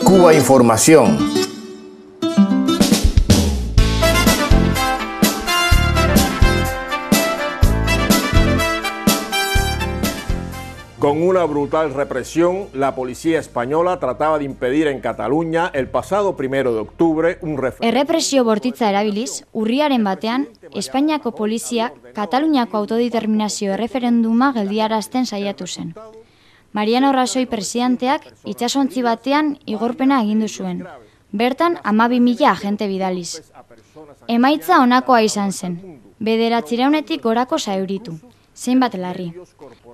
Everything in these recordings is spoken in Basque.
Cuba Información. Con una brutal represión, la policía española trataba de impedir en Cataluña el pasado 1 de octubre un referéndum. Errepresio bortitza erabiliz, urriaren batean, Espainiako poliziak Kataluniako autodeterminazio erreferenduma geldiarazten saiatu zen. Mariano Rajoy presidenteak itsasontzi batean igorpena agindu zuen. Bertan 12.000 agente bidaliz. Emaitza honakoa izan zen. 900-etik gorako zauritu. Zeinbat larri.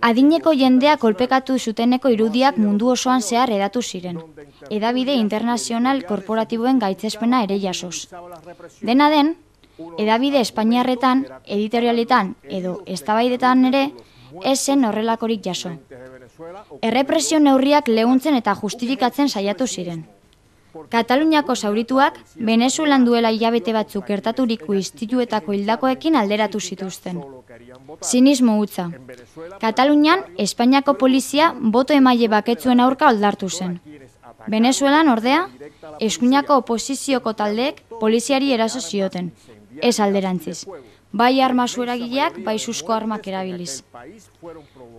Adineko jendea kolpekatu zuteneko irudiak mundu osoan zehar hedatu ziren. Hedabide internazional korporatiboen gaitzespena ere jasoz. Dena den, hedabide espainiarretan, editorialetan edo eztabaidetan ere ez zen horrelakorik jaso. Errepresio neurriak leuntzen eta justifikatzen saiatu ziren. Kataluniako zaurituak Venezuelan duela hilabete batzuk gertaturiko istiluetako hildakoekin alderatu zituzten. Zinismo hutsa. Katalunian, Espainiako polizia boto emaile baketzuen aurka oldartu zen. Venezuelan, ordea, eskuinako oposizioko taldeek poliziari eraso zioten, ez alderantziz. Bai arma zueragileak, bai suzko armak erabiliz.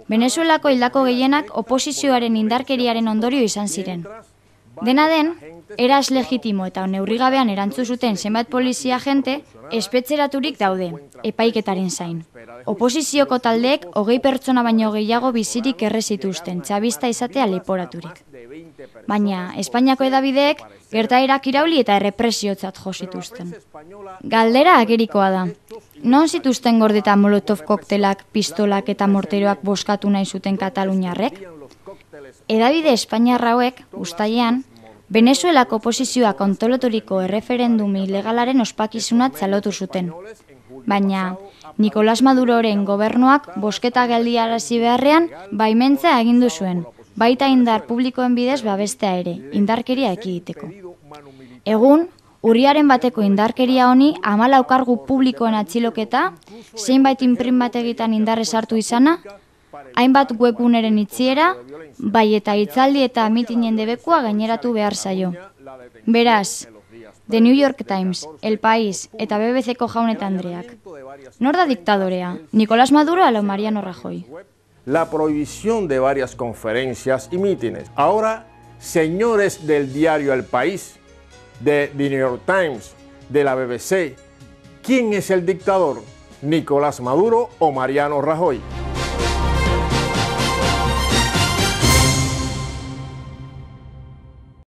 Venezuelako hildako gehienak oposizioaren indarkeriaren ondorio izan ziren. Dena den, eraz legitimo eta neurrigabean erantzu zuten zenbait polizia agente espetxeraturik daude, epaiketaren zain. Oposizioko taldeek 20 pertsona baino gehiago bizirik erre zituzten, txabista izatea leporaturik. Baina, Espainiako hedabideek gertaerak irauli eta errepresiotzat jo zituzten. Galdera agerikoa da. Non zituzten gordeta molotov koktelak, pistolak eta morteroak boskatu nahi zuten kataluniarrek? Hedabide espainiarra hauek, uztailean, Venezuelako oposizioak antolaturiko erreferendum ilegalaren ospakizunat txalotu zuten. Baina, Nicolás Maduroren gobernuak bosketa geldiarazi beharrean baimentzea agindu zuen, baita indar publikoen bidez babestea ere, indarkeria ekiditeko. Egun, urriaren bateko indarkeria honi 14 kargu publikoen atxiloketa, zeinbait inprimategitan indarrez hartu izana, hainbat webguneren itxiera, bai eta hitzaldi eta mitinen debekua gaineratu behar zaio. Beraz, The New York Times, El País eta BBC-ko Jaun eta Andreak. Nor da diktadorea, Nicolás Maduro o Mariano Rajoy? La prohibición de varias conferencias y mítines. Ahora, señores del diario El País, de The New York Times, de la BBC, ¿quién es el dictador? ¿Nicolás Maduro o Mariano Rajoy?